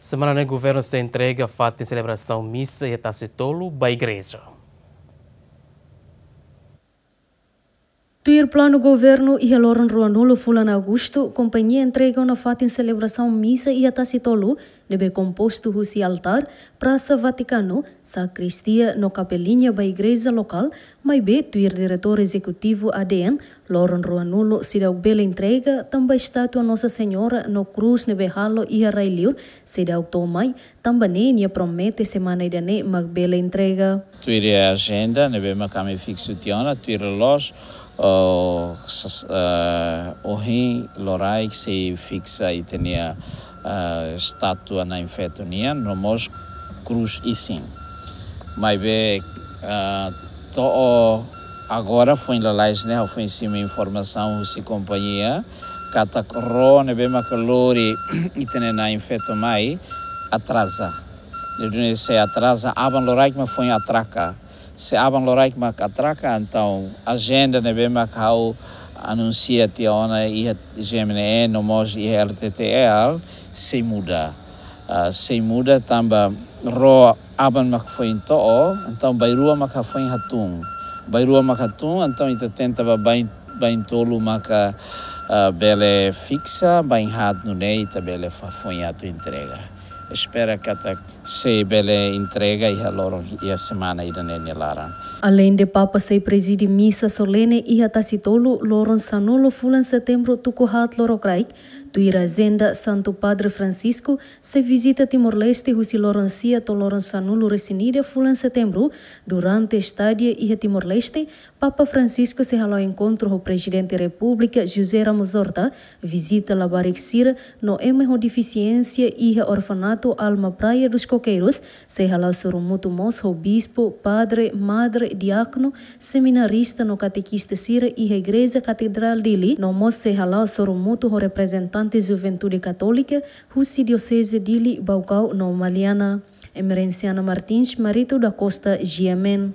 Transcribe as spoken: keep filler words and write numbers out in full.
Semana ne'e governu sei entrega fatin selebrasaun misa iha Tasi Tolu ba igreja. Tuir planu governu, iha loron ruanulu fulan Agostu, kompañia entrega ona fatin selebrasaun misa iha Tasi Tolu, ne'ebé kompostu husi altár, Prasa Vatikanu, sakristia no kapeliña ba igreja lokál, maibé tuir diretór ezekutivu A D N, loron ruanulu seidauk bele entrega, tanba estátua Nossa Senhora no krús ne'ebé halo iha rai-li'ur seidauk to'o mai, tanba ne'e nia promete semana ida-ne'e mak bele entrega. Tuir ajenda ne'ebé mak ami fiksu tiha ona, tuir loloos, oh, sas-, eh, ohin loraik sei fiksa ita-nia, eh, estátua Na'in Feto nian, no mós krús isin. Maibé, eh, to'o agora foin lalais ne'e, ha'u foin simu informasaun husi kompañia, katak ró ne'ebé maka lori ita-nia Na'in Feto mai atraza. Ne'e duni sei atraza, aban loraik mak foin atraka. Se aban loraik mak atraka, entaun ajenda ne'ebé mak ha'u anunsia tiha ona iha G M N E no mós iha R T T L sei muda. Ah, sei muda tanba ró aban mak foin to'o, entaun bainrua maka foin hatún. Bainrua maka hatún, entaun ita tenta ba bain, baintolu maka, ah, bele fiksa, bainhaat nune'e ita bele fa-, foin atu entrega. Espera katak sei bele entrega iha loron, iha semana ida-ne'e nia laran. Aleinde Papa sei prezide misa solene iha Tasi Tolu, loron sanulu fulan Setembru tuku haat lorokraik, tuir ajenda Santu Padre Francisco sei vizita Timor-Leste husi loron sia to'o loron sanulu-resin-ida fulan Setembru. Durante estadia iha Timor-Leste, Papa Francisco sei hala'o enkontru ho Prezidente Repúblika José Ramos Horta, vizita labarik sira no ema ho defisiénsia iha orfanatu Alma Praia dos Coqueiros, sei hala'o sorumutu mós ho bispu, padre, madre, diákonu, seminarista no katekista sira iha Igreja Katedrál Dili, no mós sei hala'o sorumutu ho reprezentante Juventude Katólika husi Dioseze Dili, Baucau no Maliana. Emerenciana Martins, Marito da Costa, G M N.